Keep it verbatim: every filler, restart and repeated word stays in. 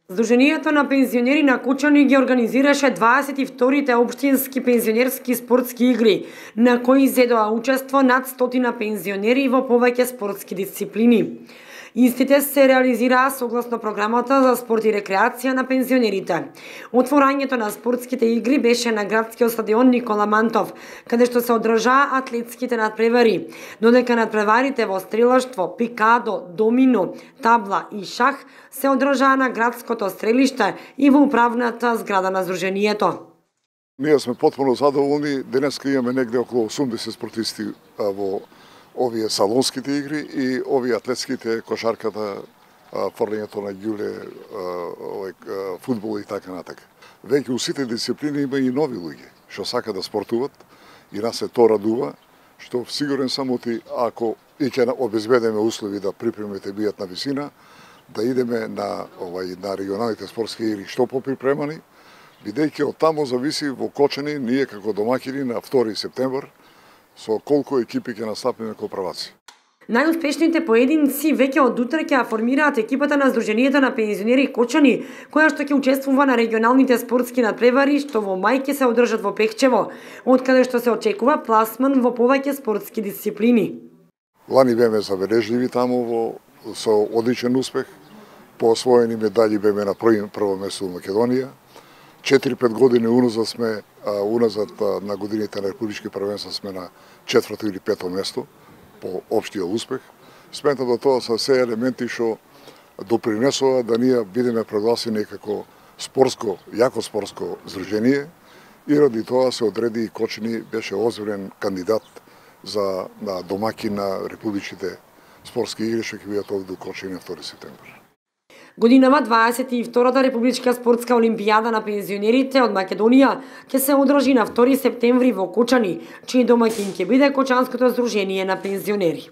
Сдруженијето на пензионери на Кучани ги организираше дваесет и вторите општински пензионерски спортски игри, на кои зедоа учество над стотина пензионери во повеќе спортски дисциплини. Истите се реализираа согласно програмата за спорт и рекреација на пензионерите. Отворањето на спортските игри беше на градскиот стадион Никола Мантов, каде што се одржаа атлетските надпревари, додека надпреварите во стрелаштво, пикадо, домино, табла и шах се одржаа на градското стрелиште и во управната зграда на Сдруженијето. Ние сме потpuno задоволни. Денеска имаме негде околу осумдесет спортисти во овие салонските игри и овие атлетските, кошарката, фрлењето на ѓуле, фудбал и така натака. Веќе у сите дисциплини има и нови луѓе што сака да спортуват и нас се тоа радува, што сигурен сам оти ако и ќе обезбедиме услови да припремите бијат на висина, да идеме на овај на регионалните спортски игри што поприпремани, бидејќи од таму зависи во Кочани ние како домаќини на втори септември со колку екипи ќе настапиме како праваци. Најуспешните поединци веќе од утре ќе формираат екипата на Сдруженијето на пензионери Кочани, која што ќе учествува на регионалните спортски надпревари што во мај ќе се одржат во Пехчево, од каде што се очекува пласман во повеќе спортски дисциплини. Лани беме забележливи таму во со одличен успех, по освоени медали беме на прво место во Македонија. четири-пет години уназад сме, уназад на годините на републички првенства сме на четврто или пето место по општиот успех. Сметам да тоа се се елементи што допринесува да ние бидеме прогласени како спортско, јако спортско здружение и ради тоа се одреди и Кочани беше озбилен кандидат за на домаќин на републичките спортски игри што ќе бидат овде у Кочани на втори септември. Годинава дваесет и втората републичка спортска олимпијада на пензионерите од Македонија ќе се одржи на втори септември во Кочани, чиј домаќин ќе биде Кочанското сдружение на пензионери.